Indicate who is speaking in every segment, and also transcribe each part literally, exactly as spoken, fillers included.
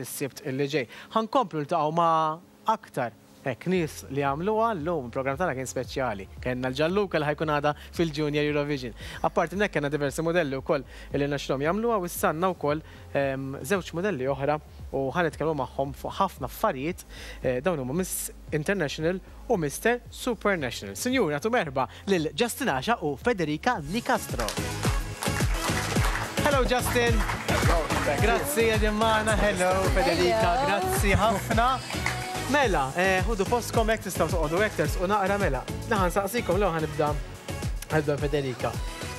Speaker 1: Is-Sibt illi ġej. Ħa nkomplu niltaqgħu ma' aktar hekk nies li għamluha. Llum il-programm tagħna kien speċjali. Kellna l-Ġalluka li ħa jkun għada fil-Junior Eurovision. Apparti hekk, kellna diversi modelli wkoll li rnexxielhom jagħmluha u issa għandna wkoll ehm, żewġ modelli oħra u ħa nitkellmu magħhom fuq ħafna affarijiet. eh, Dawn huma Miss International u Mister Supernational. Sinjura, tu merħba lil Justin Asha u Federica Nicastro. Hello, Justin. Grazzi qegħdin magħna. Hello, Federica. Grazzi ħafna. Mela, eh, ħudu postkom hekk, tistgħu toqogħdu hekk, tersqu naqra, mela. Ħa nsaqsikom l ħa nibda ħadda Federica.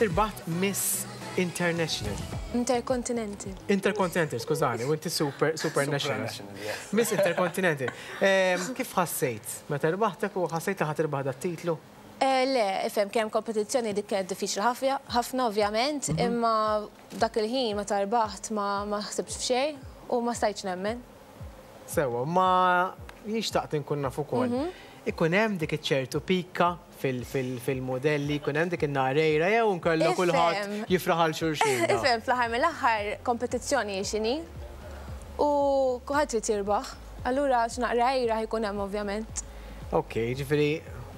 Speaker 1: Irbaħt Miss International.
Speaker 2: Intercontinental.
Speaker 1: Intercontinental, skużani, u inti Super Super National.
Speaker 3: Yes.
Speaker 1: Miss Intercontinental. Eh, Kif ħassejt? Meta rbaħtek u ħassejt li ħa tirbaħ dat-titlu?
Speaker 2: Eh, Le, ifhem, kemm kompetizzjoni dik kienet diffiċli ħafna, ħafna ovvjament, imma dak il-ħin meta rbaħt ma ma ħsibx f'xejn u ma stajtx nemmen.
Speaker 1: Sewa, ma xtaqt inkun naf ukoll. Ikun hemm dik iċ-ċertu pika fil-modelli, ikun hemm dik in-narejra jew nkollu kulħadd
Speaker 2: Ifhem.
Speaker 1: jifraħ għal xulxin?
Speaker 2: Ifhem, fl-aħħar mill-aħħar kompetizzjoni x'inhi u kulħadd trid jirbaħ. Allura x'naqra għira jkun hemm, ovvjament.
Speaker 1: Ok, ġifieri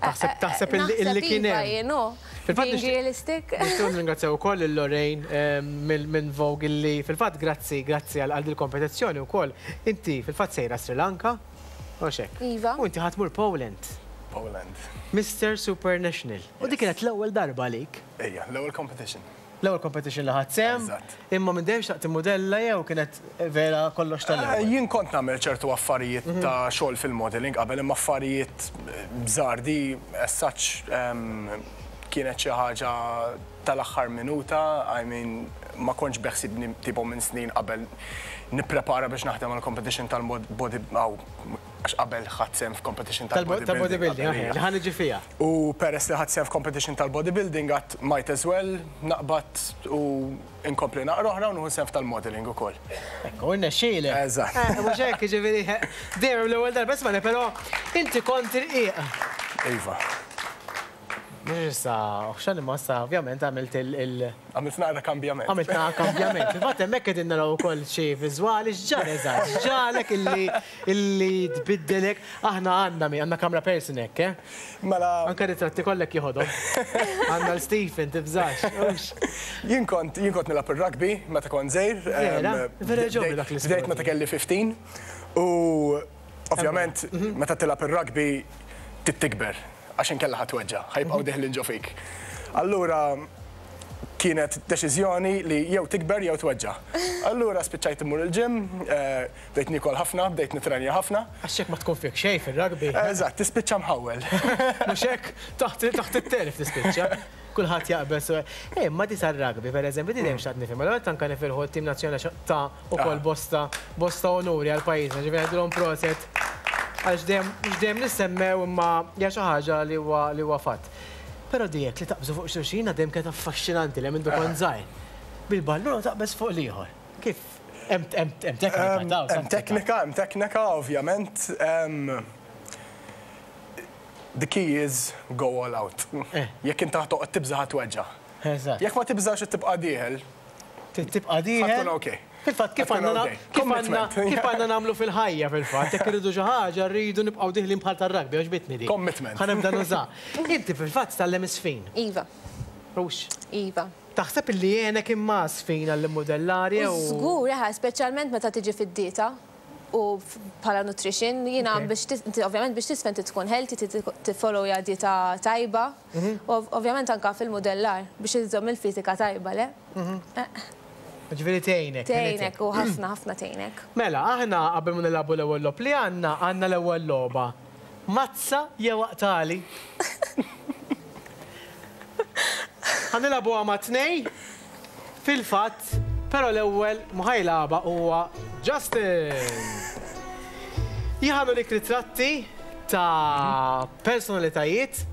Speaker 1: taħseb taħseb illi illi kien
Speaker 2: Iva
Speaker 1: hemm.
Speaker 2: Jien, no.
Speaker 1: Fil-fatt
Speaker 2: Being
Speaker 1: nixtieq-
Speaker 2: realistic.
Speaker 1: Nixtieq nringrazzjaw ukoll lil Lorraine eh, minn minn Vogue illi fil-fatt grazzi grazzi għal għal dil-kompetizzjoni wkoll. Inti fil-fatt sejra Sri Lanka, u hekk.
Speaker 2: Iva.
Speaker 1: U inti ħa tmur Poland.
Speaker 3: Poland.
Speaker 1: Mister Supernational. U dik kienet l-ewwel darba għalik.
Speaker 3: Ejja, l-ewwel competition.
Speaker 1: L-ewwel competition li ħadt sehem.
Speaker 3: Eżatt.
Speaker 1: Imma minn dejjem xtaqt modella jew kienet vera kollox
Speaker 3: Eh,
Speaker 1: tal-ewwel?
Speaker 3: Jien kont nagħmel ċertu affarijiet ta' xogħol fil-modeling qabel, imma affarijiet żgħar. Di as such em, kienet xi ħaġa tal-aħħar minuta, I mean, ma kontx beħsibni tipo minn snin qabel nipprepara biex naħdem għal competition tal-body, għax qabel ħadt sehem f'competition
Speaker 1: tal-bodybuilding,
Speaker 3: tal-bodybuilding.
Speaker 1: Li ħa niġi fiha.
Speaker 3: U peress li ħadt sehem f'competition tal-bodybuilding, għedt might as well naqbad u inkompli naqra oħra u nieħu sehem tal-modeling ukoll.
Speaker 1: Ekku, irnexxielek.
Speaker 3: Eżatt.
Speaker 1: Eh, mhux hekk, ġifieri, dejjem l-ewwel darba, isma', però inti kont irqiq.
Speaker 3: Iva.
Speaker 1: Mhux issa, uħxan, imma issa ovvjament għamilt il- il-
Speaker 3: Għamilt naqra kambjament.
Speaker 1: Għamilt naqra kambjament. Fil-fatt hemmhekk qegħdin naraw ukoll xi viżwali. X'ġara eżatt? X'ġaralek illi illi tbiddelek? Aħna għandna mi għandna camera person hekk, eh?
Speaker 3: Mela,
Speaker 1: Anke ritratti kollek jieħodhom. Għandna l-Stephen, tibżax. Ux.
Speaker 3: jien kont jien kont nilgħab ir-rugby meta kont żgħir.
Speaker 1: Vera?
Speaker 3: Em,
Speaker 1: Vera ġobni
Speaker 3: bdejt-
Speaker 1: dak l-isport.
Speaker 3: Bdejt meta kelli ħmistax u ovvjament meta tilgħab ir-rugby trid tikber għax inkella ħa tweġġa', ħa jibqgħu deħlin ġo fik. Allura kienet deċiżjoni li jew tikber jew tweġġa'. Allura spiċċajt immur il-gym, eh, bdejt nikol ħafna, bdejt nitrenja ħafna.
Speaker 1: Għax hekk ma tkun fik xejn fir-rugby.
Speaker 3: Eżatt, tispiċċa mħawwel.
Speaker 1: Mhux hekk, taħt taħt it-telf tispiċċa. Kulħadd jaqbel. Eh, ma di tar-rugby, per eżempju, di dejjem xtaqt nifhem. Allura anke nifirħu t-tim nazzjonali ta' ukoll
Speaker 3: Ah.
Speaker 1: bosta bosta onuri għal pajjiżna, ġifieri ngħidulhom proset. Għax dejjem mhux dejjem nissemmew, imma hija xi ħaġa li huwa li huwa fatt. Però dijek li taqbżu fuq xulxin dejjem kienet affaxxinanti li minn kont żgħir. Bil-ballun taqbeż fuq l-ieħor. Kif? Hemm hemm hemm teknika ta'
Speaker 3: Hemm teknika, hemm teknika, ovvjament. Em, The key is go all out.
Speaker 1: Eh.
Speaker 3: Jekk inti toqgħod tibża', ħa tweġġa'.
Speaker 1: Eżatt.
Speaker 3: Jekk ma tibżax u tibqa' dieħel,
Speaker 1: Tibqa' dieħel.
Speaker 3: Ħa tkun okay.
Speaker 1: Fil-fatt kif
Speaker 3: Ħa tkun
Speaker 1: għandna
Speaker 3: okay.
Speaker 1: kif għandna
Speaker 3: Commitment.
Speaker 1: kif għandna nagħmlu fil-ħajja fil-fatt, jekk irridu xi ħaġa rridu nibqgħu diħlin bħal tar-rugby, għoġbitni di.
Speaker 3: Commitment.
Speaker 1: Ħa nibda nuża. Inti fil-fatt tgħallimt iż-żfin.
Speaker 2: Iva,
Speaker 1: Rux.
Speaker 2: iva.
Speaker 1: Taħseb illi għenek imma żfin għall-modellari
Speaker 2: U
Speaker 1: u.
Speaker 2: żgur, eħe, speċjalment meta tiġi fid-dieta u f- bħala nutrition, jiena
Speaker 1: Ok.
Speaker 2: biex tis- inti ovvjament biex tisfen trid tkun healthy, trid tiffollowja dieta tajba, u ov- ovvjament anka fil-modellar biex iżżomm il-fizika tajba, le? Eh,
Speaker 1: Ġifieri tgħinek.
Speaker 2: Tgħinek u ħafna ħafna tgħinek.
Speaker 1: Mela, aħna qabel ma nilagħbu l-ewwel logħob li għandna, għandna l-ewwel logħba. Mazza jew aqtagħli? Ħa nilagħbuha ma' tnejn, fil-fatt, però l-ewwel min ħa jilgħabha huwa Justin. Jien ħa nurik ritratti ta' personalitajiet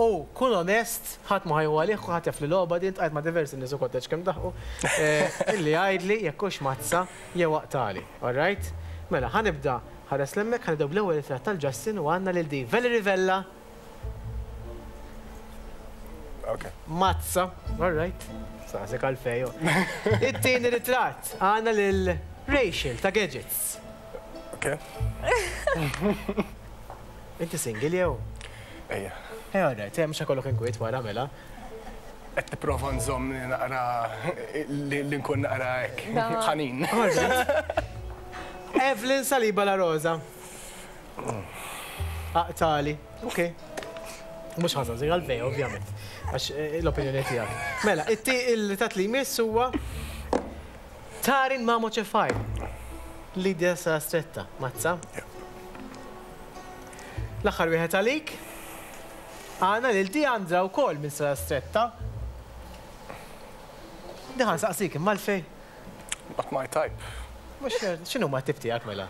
Speaker 1: u kun onest, ħadd ma ħa jieħu għalih, ħadd jaf li logħba din tqajt ma' diversi nies ukoll kemm daħqu, eh, illi għajdli jekk hux mazza jew aqtagħli. All right? Mela, ħa nibda, ħares 'l hemmhekk, ħa nibdew bl-ewwel ritratt tal-Justin u għandna lil di Valerie Vella.
Speaker 3: Okay.
Speaker 1: Mazza, all right. Saqsek għalfej. It-tieni ritratt għandna lil Rachel ta' Gadgets.
Speaker 3: Ok.
Speaker 1: Inti single jew?
Speaker 3: Ejja.
Speaker 1: Eh, all right, mhux ikollok inkwiet wara mela.
Speaker 3: Qed nipprova nżomm li naqra li nkun naqra hekk ħanin.
Speaker 1: Evelyn Saliba La Rosa. Aqtali. Ok. Mhux ħażin żir għalfejn, ovvjament. Għax l-opinjoni tiegħek. Mela, il-tat li jmiss huwa Tarin Mamo Ċefaj. Lidia Sa Stretta, mazza. L-aħħar wieħed għalik. Għana lil Diandra wkoll minn Sa Stretta. Diħan saqsik, imma l-fej.
Speaker 3: Not my type.
Speaker 1: Mux, xinu ma tip tiegħek mela?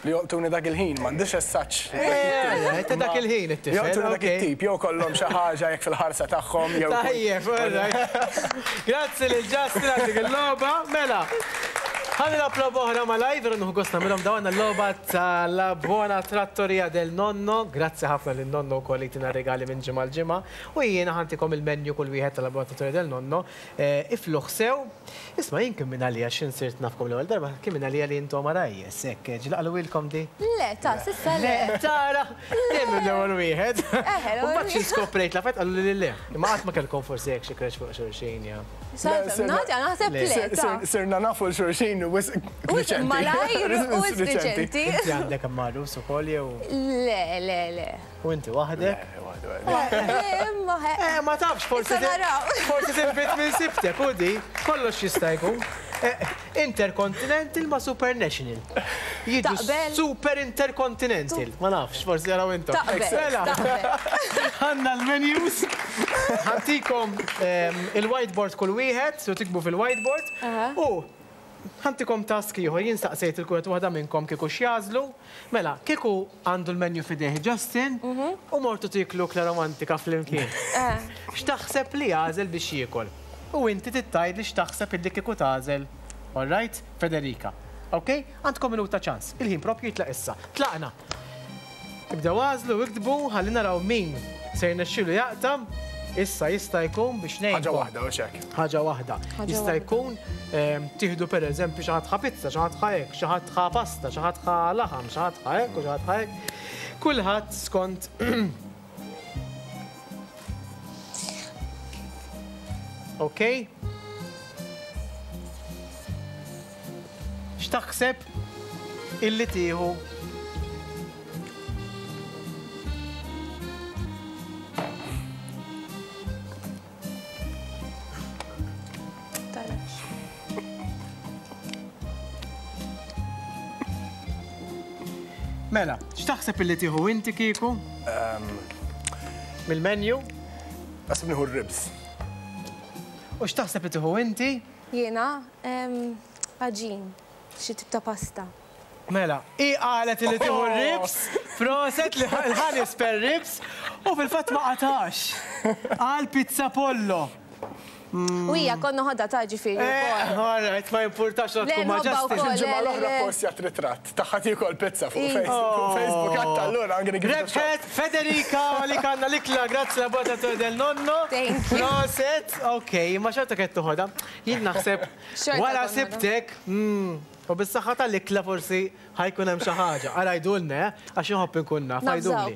Speaker 3: Li joqtuni dak il-ħin, m'għandix as-such.
Speaker 1: Eh, ta' dak il-ħin it-tifel.
Speaker 3: Joqtuni dak it-tip, jew kollhom xi ħaġa jekk fil-ħarsa tagħhom jew.
Speaker 1: Tajjeb, all right. Grazzi lil Justin għal dik il-logħba, mela. Ħa nilgħab logħba oħra malajr, veru nieħu gost nagħmilhom dawn l-logħba tal-La Buona Trattoria del Nonno. Grazzi ħafna lin nonno wkoll li tina regali minn ġimgħa l-ġimgħa. U jiena ħantikom il-menu kull wieħed tal-La Buona Trattoria del Nonno. Ifluħ sew. Isma' jien kien minn għalija x'in sirt nafkom l-ewwel darba, kien minn għalija li intom arajjes, hekk ġlaqlu ilkom di?
Speaker 2: Le, ta' s'issa le.
Speaker 1: Le, tara, dejjem l-ewwel wieħed. U mbagħad xi skoprejt la fejt qalu li le. Imma qatt ma kellkom forsi hekk xi crash fuq xulxin ja.
Speaker 2: Nagħti naħseb le. ta'
Speaker 3: Sirna nafu l-xulxin u wisq riċenti.
Speaker 2: Malajr u wisq riċenti.
Speaker 1: Inti għandek għarus ukoll jew?
Speaker 2: Le, le, le.
Speaker 1: U inti waħdek?
Speaker 2: Imma
Speaker 1: Eh, ma tafx, forsi forsi tinbit minn sibtek, u di, kollox jista' jkun. Intercontinental ma Supernational. Jiġu Super Intercontinental. Ma nafx, forsi jaraw intom.
Speaker 2: Taqbel.
Speaker 1: Għandna l-menus. Ħantikom il-whiteboard kull wieħed, so tikbu fil-whiteboard. U ħantikom task ieħor, jien staqsejt il-kuret waħda minnkom kieku x'jażlu. Mela, kieku għandu l-menu f'idejh Justin u mortu tiklu ikla romantika flimkien. X'taħseb li jagħżel biex jiekol? U inti tittajt li x'taħseb illi kieku tagħżel. All right, Federica. Ok? Għandkom minuta ċans. Il-ħin propju jitlaq issa. Tlaqna. Ibdew għażlu, iktbu, ħalli naraw min se jirnexxielu jaqta'. Issa jista' jkun biex ngħid.
Speaker 3: Ħaġa waħda, u xek.
Speaker 1: Ħaġa waħda. Jista' jkun tieħdu pereżempju xi ħadd ħa pizza, xi ħadd ħa hekk, xi ħadd ħa pasta, xi ħadd ħa laħam, xi ħadd ħa hekk u xi ħadd ħa hekk. Kulħadd skont Ok? X'taħseb illi tieħu? Mela, x'taħseb illi tieħu inti kieku? Mill-menu?
Speaker 3: Naħseb nieħu r-ribs.
Speaker 1: U x'taħseb li tieħu inti?
Speaker 2: Jiena għaġin, xi tip ta' pasta.
Speaker 1: Mela, hi qalet li tieħu r-ribs, proset li ħanis per ribs, u fil-fatt ma qatax. Għal pizza pollo.
Speaker 2: U hija konna ħodha ta' ġifieri
Speaker 1: wkoll. All right, ma jimpurtax la tkun ma' Justin.
Speaker 3: Il-ġimgħa l-oħra postjat ritratt tagħha tiekol pizza fuq Facebook għadd allura I'm gonna give it a shot.
Speaker 1: Rebħet Federica li kanna l-ikla, grazzi la Buona Trattoria del Nonno.
Speaker 2: Thank you.
Speaker 1: Proset, ok, ma xorta qed toħodha. Jien naħseb wara sibtek, u bis-saħħa tal-ikla forsi ħajkun hemm xi ħaġa. Ara jgħidulna, għax inħobb inkun naf, għidulni.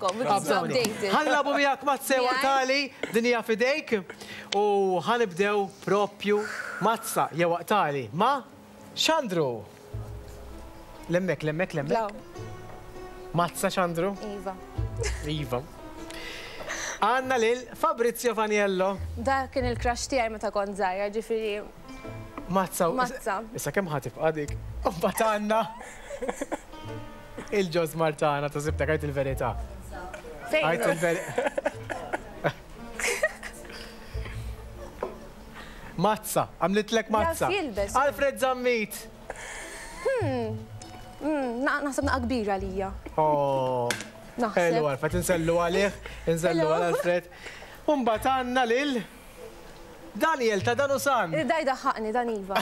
Speaker 1: Ħa nilagħbu miegħek Mazza jew Aqtali, din hija f'idejk u ħanibdew propju Mazza jew Aqtali ma' Xandru. Lemmek, lemmek, lemmek. Mazza Xandru?
Speaker 2: Iva.
Speaker 1: Iva. Għandna lil Fabrizio Faniello.
Speaker 2: Da kien il-crush tiegħi meta kont żgħira, ġifieri.
Speaker 1: Mazza.
Speaker 2: Mazza.
Speaker 1: Issa kemm ħa tibqa' dik? U mbagħad għandna il-ġoż Martana ta' sibtek għajt il-verità. Għajt il-verità. Mazza, għamlitlek mazza. Alfred Zammit.
Speaker 2: Naħseb naqa kbira lija.
Speaker 1: Oh. Hello Alfred, insellu għalih, insellu għal Alfred. U mbagħad għandna lil Daniel ta' Danusan.
Speaker 2: Daj daħħaqni, dan iva.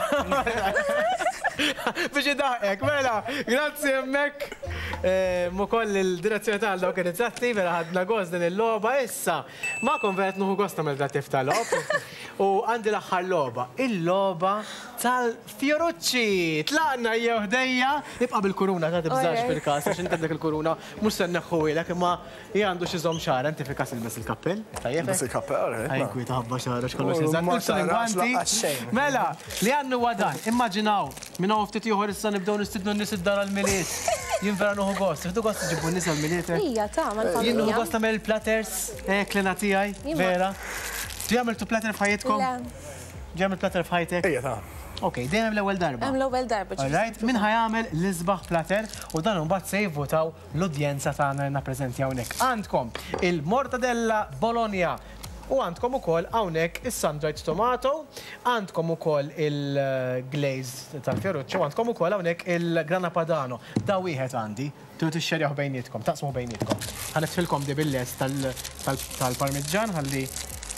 Speaker 1: Biex idaħqek, mela, grazzi hemmhekk. Ukoll il-direzzjoni tal dawk ir-ritratti, vera ħadna gost din il-logħba issa. Magħkom vera nieħu gost nagħmel dat tip ta' logħob. U għandi l-aħħar logħba, il-logħba tal-Fjorucci. Tlaqna jew ħdejja, ibqa' bil-kuruna ta' tibżax fil-każ għax inti għandek il-kuruna mhux se nneħħuhielek imma hija għandu xi żomm xagħar, inti fil-każ ilbes il-kappell. Tajjeb.
Speaker 3: Ilbes il-kappell,
Speaker 1: Ħajkwieta ħabba xagħar għax kollox eżatt. Mela, li għandu huwa dan, immaġinaw, minn hawn ftit ieħor issa nibdew nistidnu n-nies id-dar għall-Milied. Jien vera nieħu gost, tieħdu gost iġibu n-nies għall-Milied.
Speaker 2: Ija, ta' mal-familja.
Speaker 1: Jien nieħu gost nagħmel il-platters, klena tiegħi, vera. Ġi għamiltu platter f'ħajjitkom? Ġi għamilt platter f'ħajtek?
Speaker 3: Ija, ta'
Speaker 1: Ok, dejjem l-ewwel darba.
Speaker 2: Hemm l-ewwel darba.
Speaker 1: All right, min ħa jagħmel l-isbaħ platter u dan imbagħad se jivvotaw l-udjenza tagħna li nappreżenti hawnhekk. Għandkom il-mortadella Bologna u għandkom ukoll hawnhekk is-sun-dried tomato, għandkom ukoll il-glaze tal-fioruccio, għandkom ukoll hawnhekk il-grana padano. Da wieħed għandi, tridu tixxerjaw bejnietkom, taqsmu bejnietkom. Ħa nitfilkom di bil-lest tal-parmiġġan ħalli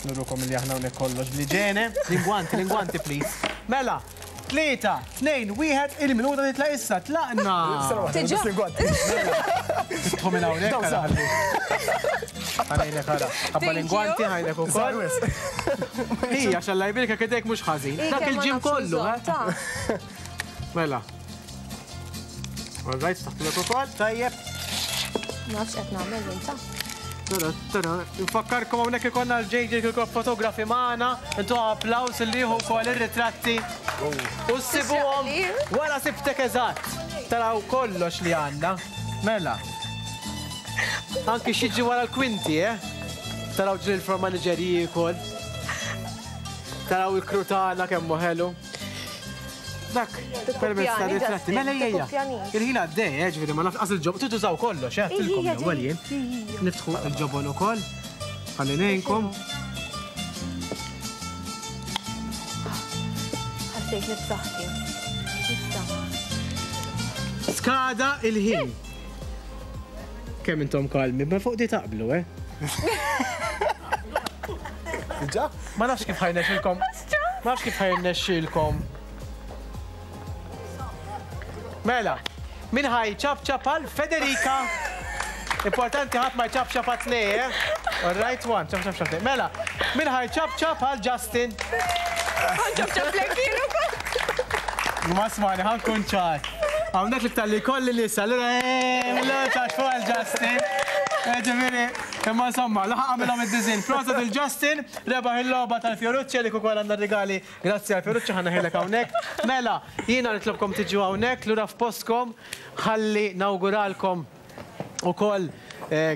Speaker 1: nurukom li aħna hawnhekk kollox bl-iġene. Lingwanti, lingwanti, please. Mela, tlieta, tnejn, wieħed, il-minuta titla' issa, tlaqna. Tidħu minn hawnhekk ara ħalli. Ħanejlek ara. Ħabba lingwanti ħajlek ukoll. Hija xalla jbirka kidek mhux ħażin. Dak il-ġim kollu, eh? Mela. All right, taħtulek ukoll, tajjeb.
Speaker 2: Ma nafx qed nagħmel inta.
Speaker 1: Nfakkarkom hawnhekk ikollna l-J J Kirkop fotografi magħna, intu applaws li jieħu wkoll ir-ritratti. U ssibuhom wara sibtek eżatt. Taraw kollox li għandna. Mela. Anki xiġi wara l-kwinti, eh? Taraw ġil il-floor manager jiekol. Taraw il-crew tagħna kemm hu ħelu. Dak, permezz ta' ritratti. Mela hija. Il-ħin għaddej, eh, ġifieri ma nafx qas il-ġobon, tużaw kollox, eh, tilkom l-ewwel jien. Niftħu il-ġobon ukoll. Ħalli ngħinkom.
Speaker 2: Ħassejt nifsaħti.
Speaker 1: Skada il-ħin. Kemm intom kalmi, ma fuq di taqblu, eh?
Speaker 3: Diġà?
Speaker 1: Ma nafx kif ħajnexxilkom. Ma nafx kif ħajnexxilkom. Mela, min ħaj ċap ċap għal Federica. Importanti ħadd ma jċap ċap għal tnej, eh? All right, one, ċap ċap ċap. Mela, min ħaj ċap ċap għal Justin.
Speaker 2: Ċap ċap lek
Speaker 1: Ma smani, ħankun ċar. Hawnhekk l-iktar li kolli nisa, allura eh, ċaċ fuq għal Justin. Ġifieri, imma insomma, laħaq għamilhom id-diżin. Proset il-Justin, rebaħ il-logħba tal-Fiorucci li ukoll għandna rigali. Grazzi għal Fiorucci ħa naħilek hawnhekk. Mela, jiena nitlobkom tiġu hawnhekk lura f'postkom ħalli nawguralkom ukoll,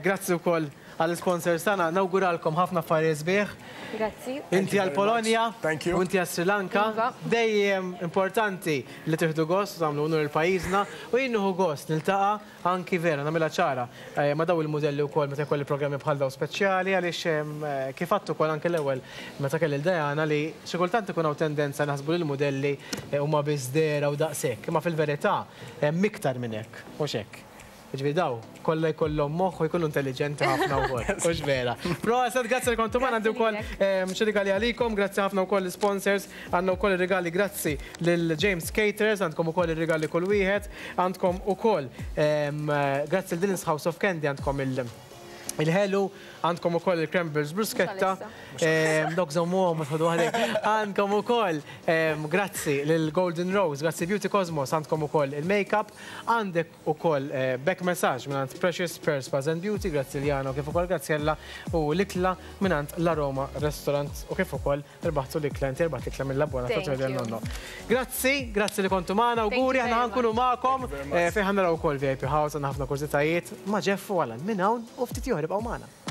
Speaker 1: grazzi wkoll għall-sponsors tagħna, nawguralkom ħafna affarijiet sbieħ.
Speaker 2: Grazzi.
Speaker 1: Inti għal Polonja, u inti għal Sri Lanka. Dejjem importanti li tieħdu gost u tagħmlu unur il-pajjiżna u jien nieħu gost niltaqa' anki vera nagħmilha ċara ma' daw il-mudelli wkoll meta jkolli programmi bħal daw speċjali għaliex kif għadt ukoll anke l-ewwel meta kelli l-Diana li xi kultant ikun hawn tendenza naħsbu li l-mudelli huma biss dehra u daqshekk, imma fil-verità hemm iktar minn hekk, mhux hekk. Ġifieri daw, kollha jkollhom moħħ u jkunu intelligenti ħafna wkoll, mhux vera. Proset, grazzi li kontu magħna, għandi wkoll xi rigali għalikom, grazzi ħafna wkoll l-sponsors, għandna wkoll ir-rigali grazzi lil James Caterers, għandkom ukoll ir-rigali kull wieħed, għandkom ukoll grazzi lil Dylan's House of Candy, għandkom il- il-ħelu, għandkom ukoll il-Cranberries bruschetta, dok żommuhom ma tħodu waħdek. Għandkom ukoll grazzi lil Golden Rose, grazzi Beauty Cosmos, għandkom ukoll il-makeup, għandek ukoll back massage mingħand Precious Pearls Spas and Beauty, grazzi Liano kif ukoll Graziella u l-ikla mingħand La Roma Restaurant u kif ukoll irbaħtu l-ikla, inti irbaħt l-ikla mill-Labona
Speaker 2: Thank
Speaker 1: Totally
Speaker 2: you.
Speaker 1: Nonno. Grazzi, grazzi li kontu magħna, auguri, aħna ħankunu magħkom, fejn ħa naraw ukoll V I P House, għandna ħafna kurżitajiet ma' Jeff u Alan minn hawn u ftit ieħor ibqgħu magħna.